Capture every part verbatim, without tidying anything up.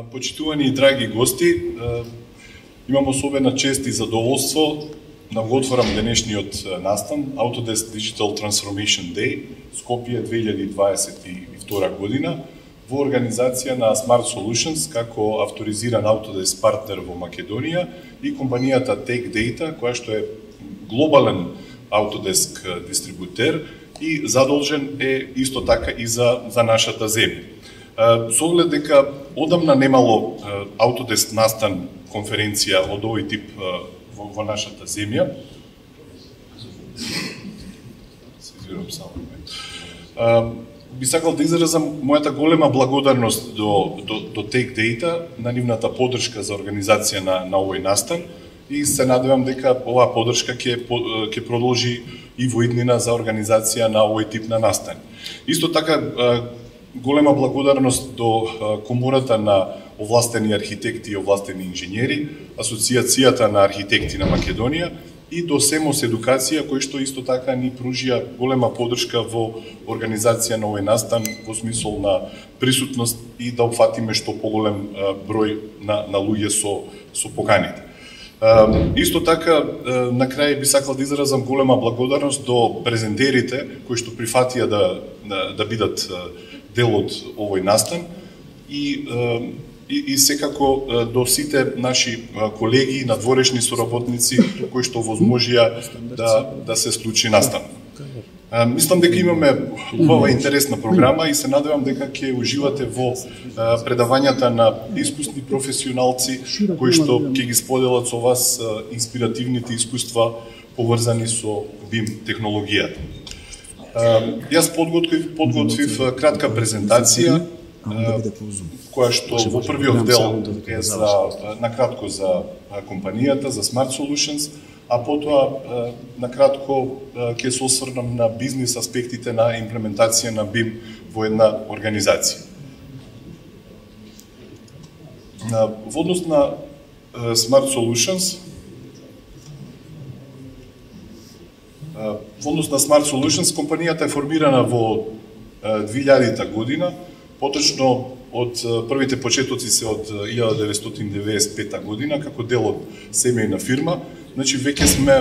Почитувани и драги гости, имам особена чест и задоволство да го отворам денешниот настан Autodesk Digital Transformation Day Скопје две илјади дваесет и втора година во организација на Smart Solutions како авторизиран Autodesk партнер во Македонија и компанијата Tech Data, која што е глобален Autodesk дистрибутер и задолжен е исто така и за, за нашата земја. Со оглед дека одамна немало Autodesk настан конференција од овој тип во, во нашата земја. Се извинувам само. Би сакал да изразам мојата голема благодарност до, до, до Tech Data на нивната поддршка за организација на, на овој настан и се надевам дека оваа поддршка ќе ќе продолжи и во иднина за организација на овој тип на настан. Исто така голема благодарност до Комората на овластени архитекти и овластени инженери, Асоциацијата на архитекти на Македонија и до СЕМОС Едукација, кој што исто така ни пружија голема поддршка во организација на овој настан во смисол на присутност и да опфатиме што поголем број на, на луѓе со, со поканите. Исто така, на крај би сакал да изразам голема благодарност до презентерите кои што прифатија да, да, да бидат дел од овој настан и, и, и секако до сите наши колеги, надворешни соработници кои што возможија да, да се случи настан. Мислам дека имаме убава интересна програма и се надевам дека ќе уживате во предавањата на искусни професионалци кои што ќе ги споделат со вас инспиративните искуства поврзани со бим технологијата. Јас подготвив, подготвив кратка презентација која што во првиот дел е за накратко за компанијата, за Smart Solutions, а потоа накратко ќе се осврнам на бизнис аспектите на имплементација на бим во една организација. Во однос на Smart Solutions, Во однос на Smart Solutions, компанијата е формирана во две илјадита година, поточно од првите почетоци се од илјада деветстотини деветдесет и пета година, како дел од семејна фирма. Значи, веќе сме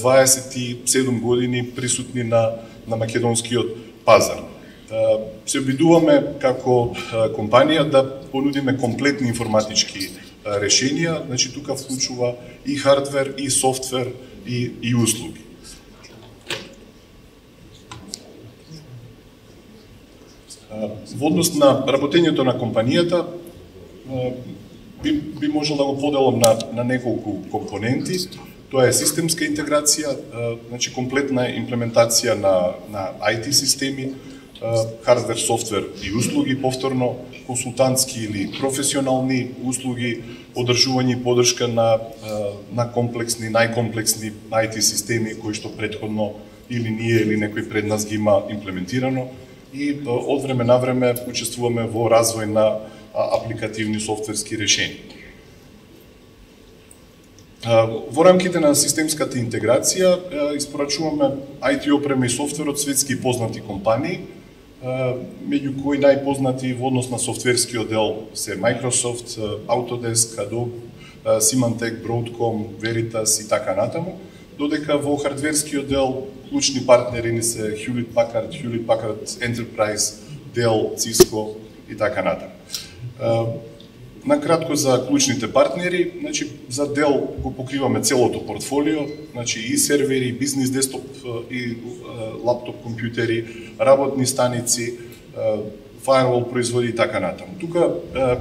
дваесет и седум години присутни на, на македонскиот пазар. Се обидуваме како компанија да понудиме комплетни информатички решенија, значи тука вклучува и хардвер, и софтвер, и, и услуги. Во однос на работењето на компанијата, би, би можел да го поделам на, на неколку компоненти. Тоа е системска интеграција, значи комплетна имплементација на, на ай ти системи, хардвер, софтвер и услуги, повторно консултантски или професионални услуги, одржување и поддршка на, на комплексни, најкомплексни ай ти системи кои што претходно или ние или некој пред нас ги има имплементирано и од време на време учествуваме во развој на апликативни софтверски решенија. Во рамките на системската интеграција испорачуваме ай ти опрема и софтвер од светски познати компании, меѓу кои најпознати во однос на софтверскиот дел се Microsoft, Autodesk, Adobe, Symantec, Broadcom, Veritas и така натаму, додека во хардверскиот дел клучни партнери ни се Hewlett Packard, Hewlett Packard Enterprise, Dell, Cisco и така натаму. Накратко за клучните партнери, значи за Dell го покриваме целото портфолио, значи и сервери, и бизнес десктоп и лаптоп компјутери, работни станици, фаервол производи и така натаму. Тука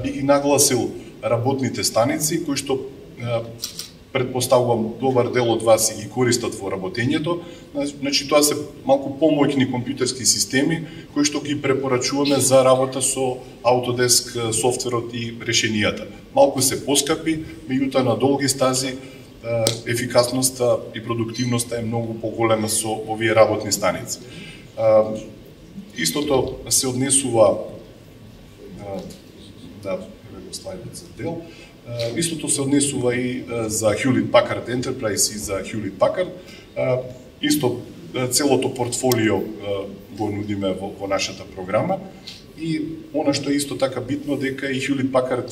би ги нагласил работните станици кои што предпоставувам добар дел од вас и ги користат во работењето. Значи тоа се малку помоќни компјутерски системи кои што ги препорачуваме за работа со Autodesk софтверот и решенијата. Малку се поскапи, меѓутоа на долги стази ефикасноста и продуктивноста е многу поголема со овие работни станици. Истото се однесува да го слайдот за дел. Истото се однесува и за Hewlett Packard Enterprise и за Hewlett Packard. Исто целото портфолио го нудиме во, во нашата програма. И она што е исто така битно, дека и Hewlett Packard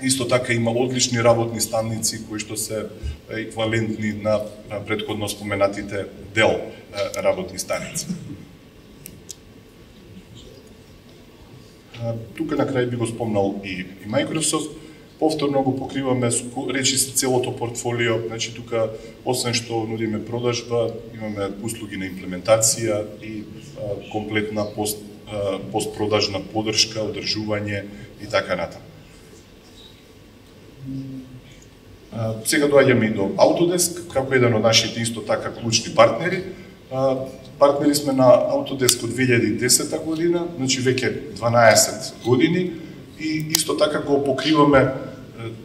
исто така има одлични работни станици кои што се еквивалентни на претходно споменатите Dell работни станици. Тука на крај би го спомнал и, и Microsoft. Повторно го покриваме речи целото портфолио, значи тука освен што нудиме продажба, имаме услуги на имплементација и а, комплетна пост, а, постпродажна поддршка, одржување и така натаму. Сега доаѓаме и до Autodesk, како еден од нашите исто така клучни партнери. А, партнери сме на Autodesk од две илјади и десета година, значи веќе дванаесет години, и исто така го покриваме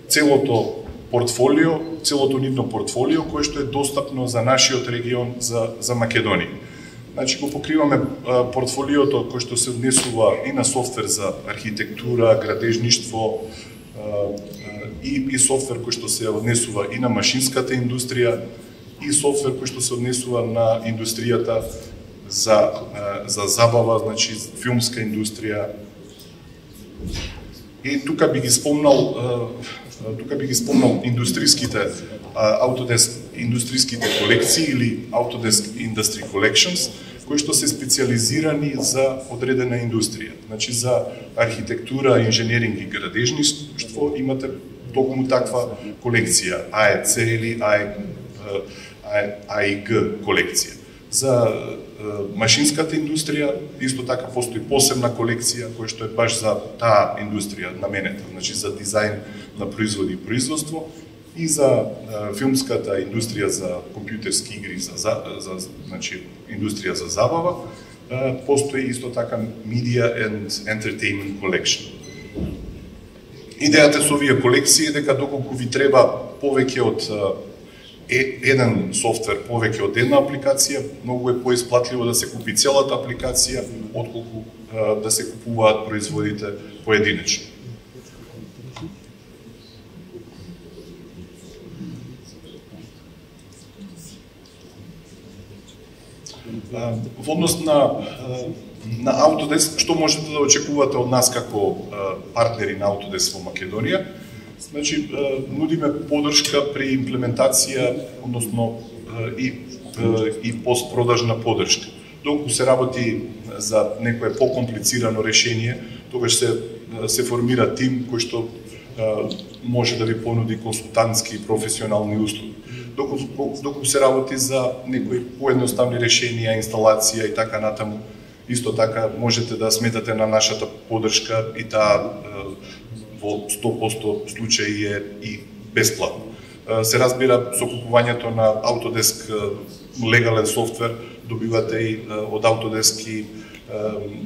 целото портфолио, целото нивно портфолио кое што е достапно за нашиот регион, за, за Македонија. Значи го покриваме а, портфолиото кој што се однесува и на софтвер за архитектура, градежништво, а, а, и, и софтвер кој што се однесува и на машинската индустрија, и софтвер кој што се однесува на индустријата за, а, за забава, значи филмска индустрија. И тука би ги спомнал, тука би ги спомнал индустриските Autodesk индустриските колекции или Autodesk Industry Collections, кои што се специализирани за одредена индустрија. Значи за архитектура, инженеринг и градежништво имате токму таква колекција, А Е Це или А И Г колекција. За машинската индустрија исто така постои посебна колекција која што е баш за таа индустрија наменета, значи за дизајн на производи и производство, и за филмската индустрија за компјутерски игри, за, за, за значи индустрија за забава, постои исто така Media and Entertainment Collection. Идејата со овие колекции е дека доколку ви треба повеќе од Е, еден софтвер повеќе од една апликација, многу е поисплатливо да се купи целата апликација, отколку а, да се купуваат производите поединечно. А, во однос на, на Autodesk, што можете да очекувате од нас како а, партнери на Autodesk во Македонија? Значи, нудиме поддршка при имплементација, односно и, и постпродажна поддршка. Доколку се работи за некое покомплицирано решение, тогаш се, се формира тим кој што може да ви понуди консултантски и професионални услуги. Доколку, доколку се работи за некои поедноставни решенија, инсталација и така натаму, исто така можете да сметате на нашата поддршка и таа во сто проценти случаи е и бесплатно. Се разбира, со купувањето на Autodesk легален софтвер, добивате и од Autodesk и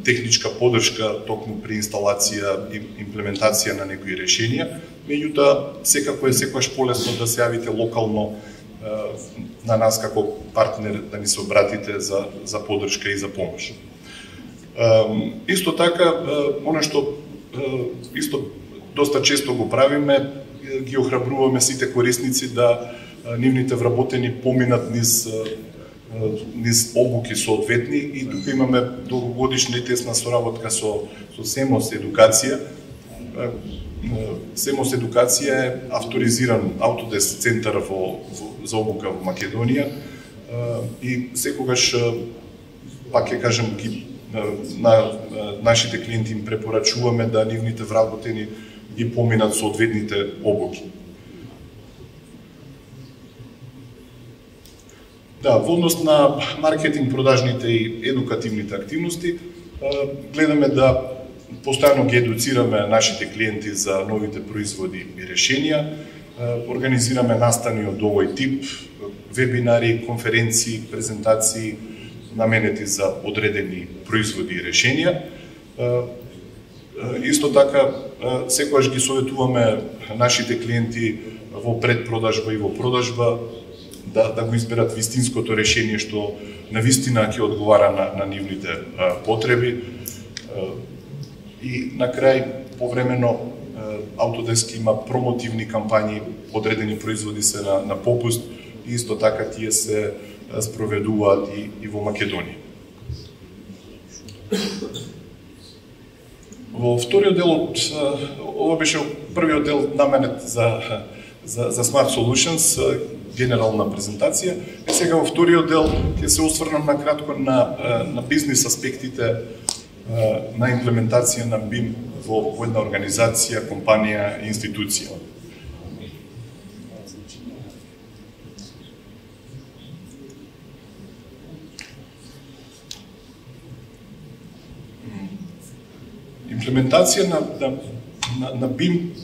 техничка поддршка токму при инсталација и имплементација на некои решенија. Меѓутоа, секако е секогаш полесно да се јавите локално на нас како партнер, да ни се обратите за, за поддршка и за помош. Исто така, она што исто доста често го правиме, ги охрабруваме сите корисници да нивните вработени поминат низ, низ обуки соодветни, и тука имаме долгогодишна и тесна соработка со, со Семос Едукација. Семос Едукација е авторизиран Autodesk центар во, во, за обука во Македонија и секогаш, пак ќе кажем, ги, на нашите клиенти им препорачуваме да нивните вработени ги поминат соодветните обуки. Да, во однос на маркетинг, продажните и едукативните активности, гледаме да постојано ги едуцираме нашите клиенти за новите производи и решенија, организираме настани од овој тип, вебинари, конференции, презентации наменети за одредени производи и решенија. Исто така, секогаш ги советуваме нашите клиенти во предпродажба и во продажба да, да го изберат вистинското решение што навистина ќе одговара на, на нивните а, потреби. И на крај, повремено, Autodesk има промотивни кампањи, одредени производи се на, на попуст, и исто така тие се спроведуваат и, и во Македонија. Во вториот дел, ова беше првиот дел наменет за, за, за Smart Solutions, генерална презентација. И сега во вториот дел ќе се осврнам на кратко на, на бизнис аспектите на имплементација на бим во, во една организација, компанија, институција. Имплементација на, на, на, на бим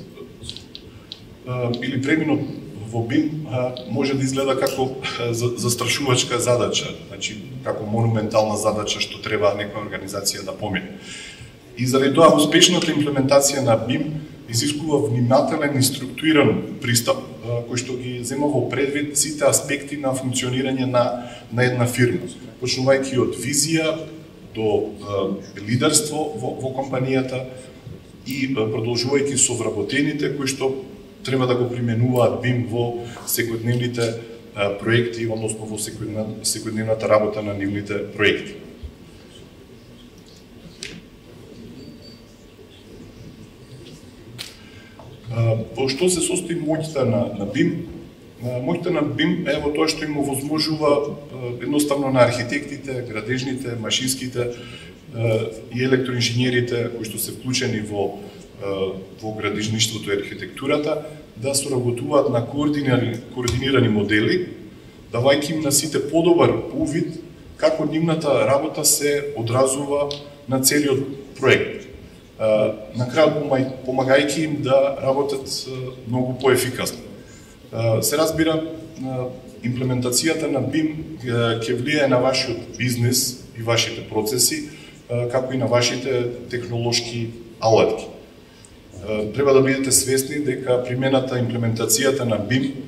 или преминот во бим може да изгледа како застрашувачка задача, значи како монументална задача што треба некоја организација да помине. И заради тоа успешната имплементација на бим изискува внимателен и структуриран пристап кој што ги зема во предвид сите аспекти на функционирање на, на една фирма, почнувајќи од визија до е, лидерство во, во компанијата и продолжувајќи со вработените кои што треба да го применуваат бим во секојдневните е, проекти, односно во секојдневна, секојдневната работа на нивните проекти. Во што се состои моќта на, на бим? Моќта на бим е во тоа што им овозможува едноставно на архитектите, градежните, машинските и електроинженерите кои што се вклучени во во градежништвото и архитектурата да соработуваат на координирани, координирани модели, давајќи им на сите подобар увид како нивната работа се одразува на целиот проект. На крај помагајќи им да работат многу поефикасно. Се разбира, имплементацијата на бим ќе влијае на вашиот бизнес и вашите процеси, како и на вашите технолошки алатки. Треба да бидете свесни дека примената имплементацијата на бим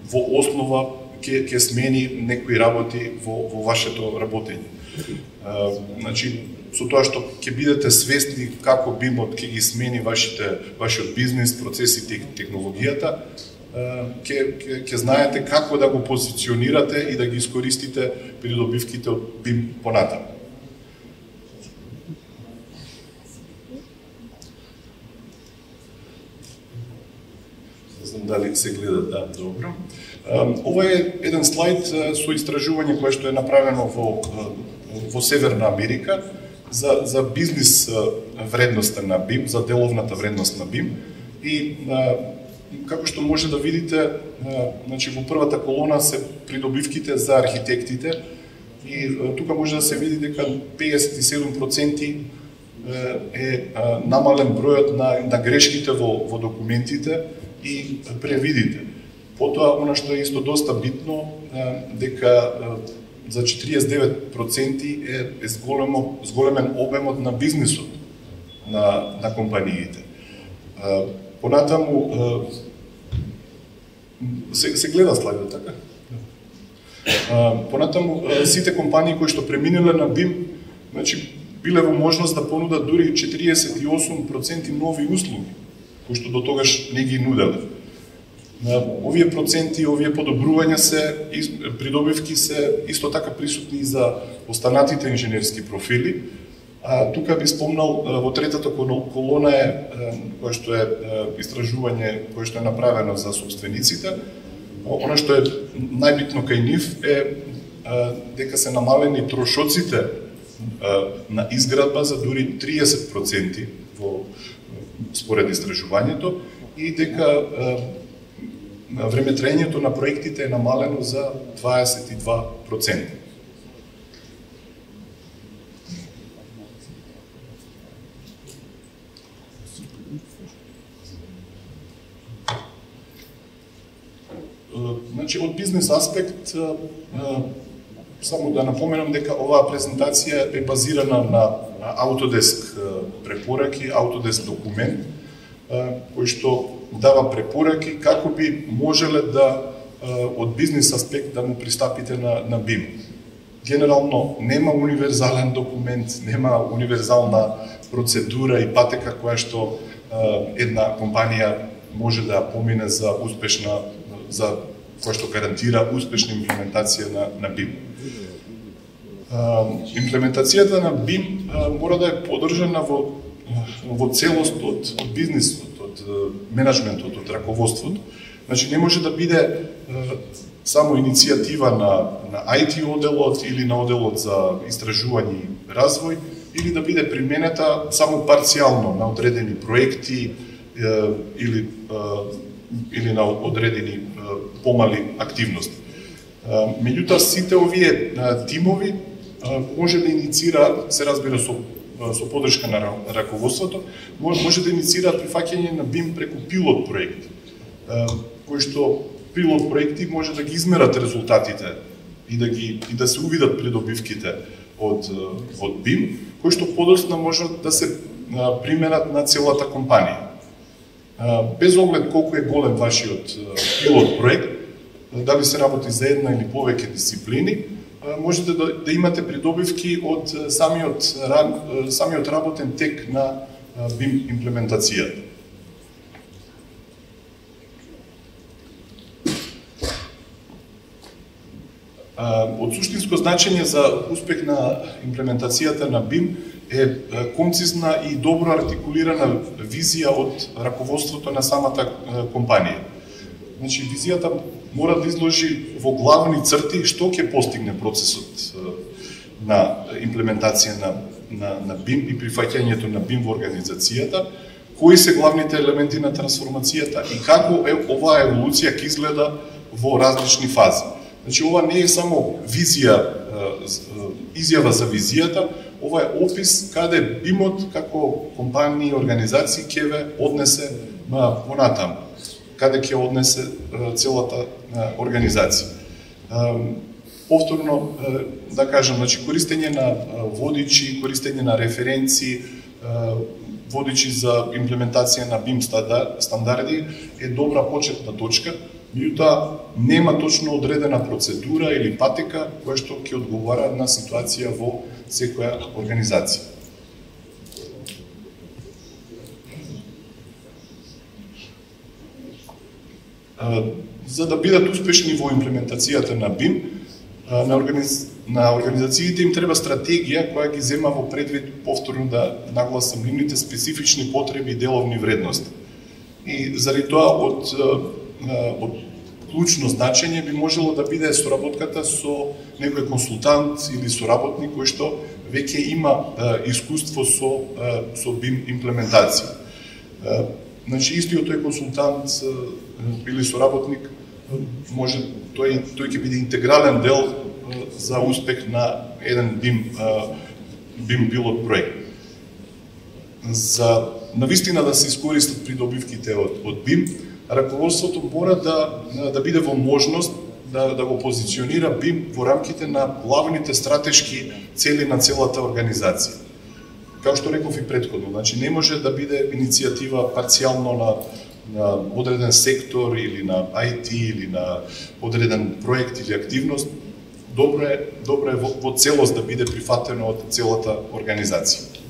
во основа ќе ќе смени некои работи во во вашето работење. Значи, со тоа што ќе бидете свесни како бимот ќе ги смени вашите вашиот бизнес, процесите и технологијата, ќе ќе ќе знаете како да го позиционирате и да ги искористите придобивките од бим понатаму. Не знам дали се гледа, да, добро. Ова е еден слайд со истражување кое што е направено во во Северна Америка за за бизнис вредноста на бим, за деловната вредност на бим и како што може да видите, значи во првата колона се придобивките за архитектите и тука може да се види дека педесет и седум проценти е намален бројот на, на грешките во, во документите и превидите. Потоа, она што е исто доста битно, дека за четириесет и девет проценти е, е зголемо, зголемен обемот на бизнисот на, на компаниите. Понатаму, се, се гледа слайдот, така? Понатаму, сите компании кои што преминеле на бим, значи, биле во можност да понудат дури четириесет и осум проценти нови услуги, кои што до тогаш не ги нуделе. Овие проценти, овие подобрувања се, придобивки се исто така присутни и за останатите инженерски профили. А, тука би спомнал, во третата колона е кое што е истражување кое што е направено за собствениците. Она што е најбитно кај нив е дека се намалени трошоците на изградба за дури триесет проценти во според истражувањето и дека времетраењето на проектите е намалено за дваесет и два проценти. Значи, од бизнес аспект, само да напоменам дека оваа презентација е базирана на Autodesk препораки, Autodesk документ, кој што дава препораки како би можеле да од бизнес аспект да му пристапите на, на бим. Генерално нема универзален документ, нема универзална процедура и патека која што една компанија може да помине за успешна, за која што гарантира успешна имплементација на, на бим. Имплементацијата на бим мора да е поддржана во, во целост од, од бизнисот, од менеджментот, од раководството. Значи не може да биде само иницијатива на, на ај ти оделот или на оделот за истражување и развој, или да биде применета само парцијално на одредени проекти или, или на одредени помали активности. Меѓутоа, сите овие тимови може да инициираат, се разбира со, со поддршка на раководството, може да инициираат прифаќање на бим преку пилот проекти, кои што пилот проекти може да ги измерат резултатите и да ги и да се увидат придобивките од од бим, кои што подоцна можат да се применат на целата компанија. Без оглед колку е голем вашиот пилот проект, дали се работи за една или повеќе дисциплини, можете да, да имате придобивки од самиот, самиот работен тек на бим имплементацијата. Од суштинско значење за успех на имплементацијата на бим е концизна и добро артикулирана визија од раководството на самата компанија. Значи, визијата мора да изложи во главни црти што ќе постигне процесот на имплементација на, на, на бим и прифаќањето на бим во организацијата, кои се главните елементи на трансформацијата и како е оваа еволуција ќе изгледа во различни фази. Значи, ова не е само визија, изјава за визијата, ова е опис каде бимот како компанија и организација ќе ве однесе понатаму, каде ќе однесе целата организација. Повторно, да кажам, значи, користење на водичи, користење на референци, водичи за имплементација на бим стандарди е добра почетна точка, меѓутоа нема точно одредена процедура или патека која што ќе одговара на ситуација во секоја организација. За да бидат успешни во имплементацијата на бим, на, организ... на организациите им треба стратегија која ги зема во предвид, повторно да нагласам, нивните специфични потреби и деловни вредности. И заради тоа од од клучно значење би можело да биде соработката со некој консултант или соработник кој што веќе има искуство со со бим имплементација. Значи, истиот тој консултант или соработник може тој тој ќе биде интегрален дел за успех на еден бим бим пилот проект. За навистина да се искористат придобивките од од бим, раководството мора да да биде во можност да да го позиционира бим во рамките на главните стратешки цели на целата организација. Како што реков и претходно, значи не може да биде иницијатива парцијално на на одреден сектор или на ај ти или на одреден проект или активност. Добро е добро е во, во целост да биде прифатено од целата организација.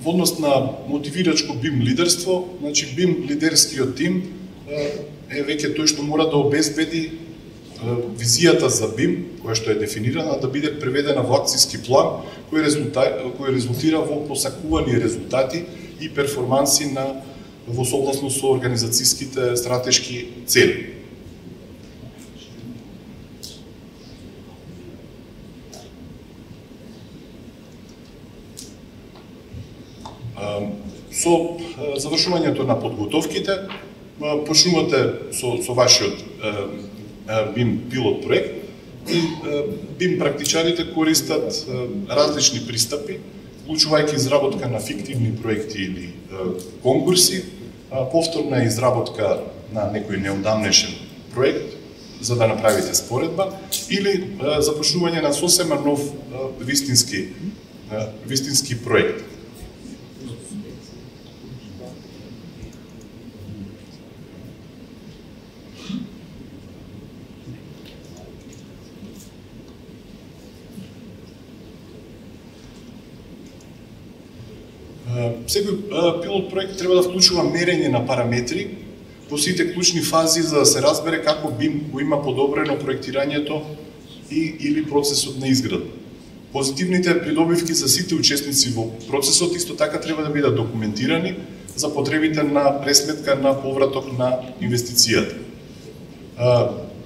Во однос на мотивирачко бим лидерство, значи бим лидерскиот тим е веќе тој што мора да обезбеди визијата за бим, која што е дефинирана, да биде преведена во акцијски план, кој, кој резултира во посакувани резултати и перформанси на во согласно со организацијските стратешки цели. Со завршувањето на подготовките, почнувате со, со вашиот бим пилот проект и бим практичарите користат различни пристапи, вклучувајќи изработка на фиктивни проекти или конкурси, повторна изработка на некој неодамнешен проект за да направите споредба или започнување на сосема нов вистински вистински проект. Секој пилот проект треба да вклучува мерење на параметри во сите клучни фази за да се разбере како бим го има подобрено проектирањето и или процесот на изградба. Позитивните придобивки за сите учесници во процесот исто така треба да бидат документирани за потребите на пресметка на повраток на инвестицијата.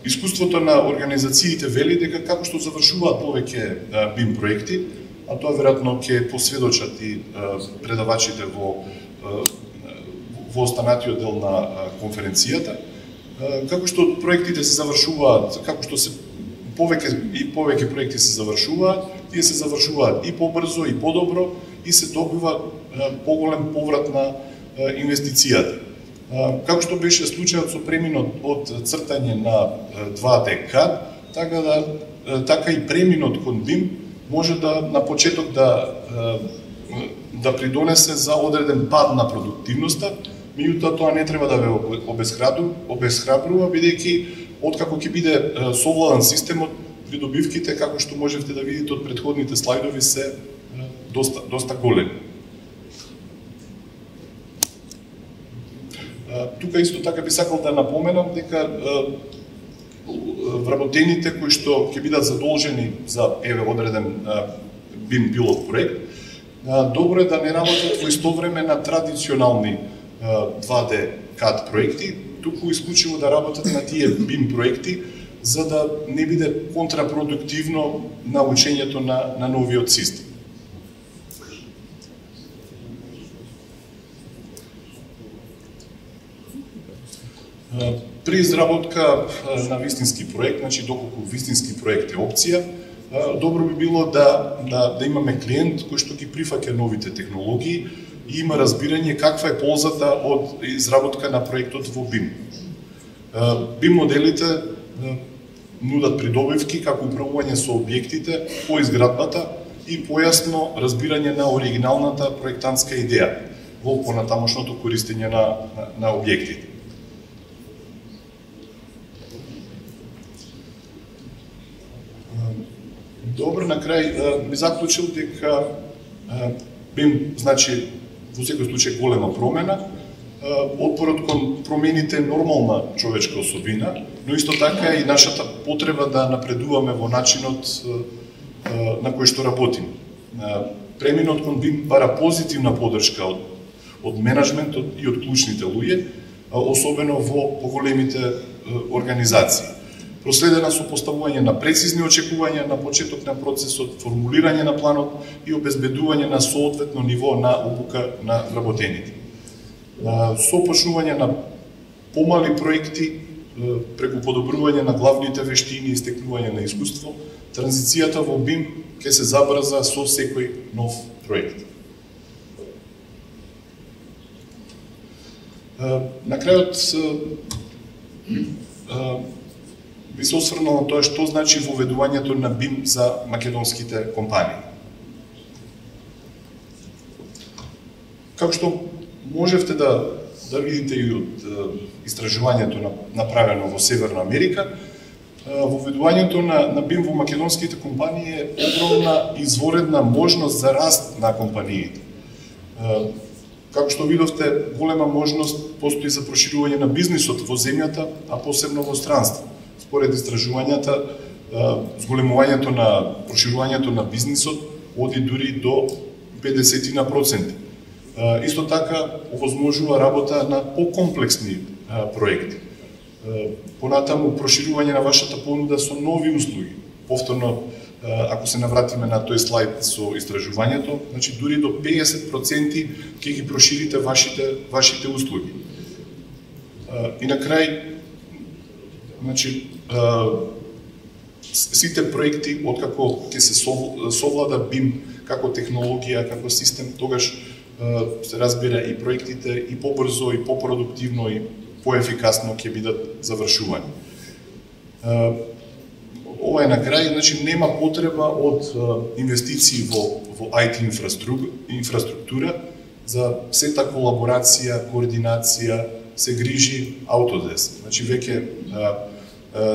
Искуството на организациите вели дека како што завршуваат повеќе бим проекти, а тоа веројатно ќе посведочат и предавачите во во останатиот дел на конференцијата, како што проектите се завршуваат, како што се повеќе и повеќе проекти се завршуваат, тие се завршуваат и побрзо и подобро и се добива поголем поврат на инвестицијата. Како што беше случајот со преминот од цртање на два Д кад, така да така и преминот кон бим може да на почеток да да придонесе за одреден пад на продуктивноста, меѓутоа тоа не треба да ве обесхрабрува, бидејќи откако ќе биде совладан системот, придобивките, како што можевте да видите од претходните слайдови, се доста доста големи. Тука исто така би сакал да напоменам дека вработените кои што ќе бидат задолжени за еве одреден бим пилот проект, добро е да не работат во исто време на традиционални два Д кад проекти, туку исклучиво да работат на тие бим проекти, за да не биде контрапродуктивно на учењето на, на новиот систем. При изработка на вистински проект, значи доколку вистински проект е опција, добро би било да, да, да имаме клиент кој што ги прифаќа новите технологии и има разбирање каква е ползата од изработка на проектот во бим. бим моделите нудат придобивки како управување со објектите по изградбата и појасно разбирање на оригиналната проектантска идеја во понатамошното користење на, на, на објектите. Добро, на крај би заклучил дека бим, значи, во секој случај голема промена, отпорот кон промените нормална човечка особина, но исто така и нашата потреба да напредуваме во начинот на кој што работим. Преминот кон бим бара позитивна поддршка од, од менеджментот и од клучните луѓе, особено во поголемите организации. Проследена со поставување на прецизни очекувања на почеток на процесот, формулирање на планот и обезбедување на соодветно ниво на обука на вработените. Со почнување на помали проекти, преку подобрување на главните вештини и стекнување на искуство, транзицијата во бим ќе се забрза со секој нов проект. На крајот би се осврнал на тоа што значи воведувањето на бим за македонските компании. Како што можевте да, да видите и од истражувањето направено во Северна Америка, воведувањето на, на бим во македонските компании е огромна изворедна можност за раст на компаниите. Како што видовте, голема можност постои за проширување на бизнисот во земјата, а посебно во странство. Според истражувањата, зголемувањето на проширувањето на бизнисот оди дури до педесет проценти. Исто така овозможува работа на покомплексни проекти. Понатаму проширување на вашата понуда со нови услуги. Повторно, ако се навратиме на тој слайд со истражувањето, значи дури до педесет проценти ќе ги проширите вашите вашите услуги. И на крај, значи, сите проекти откако ќе се совлада бим како технологија, како систем, тогаш се разбира и проектите и побрзо, и попродуктивно, и поефикасно ќе бидат завршувани. Ова е на крај, значи нема потреба од инвестиции во, во ай ти инфраструктура, за сета колаборација, координација, се грижи Autodesk. Значи веќе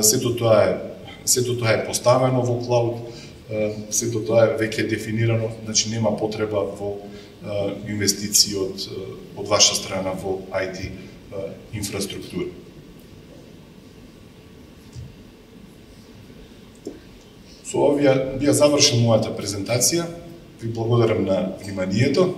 сето тоа е сето тоа е поставено во клауд, сето тоа е веќе дефинирано, значи нема потреба во инвестиции од, од ваша страна во ай ти инфраструктура. Со овие би ја завршил мојата презентација. Ви благодарам на вниманието.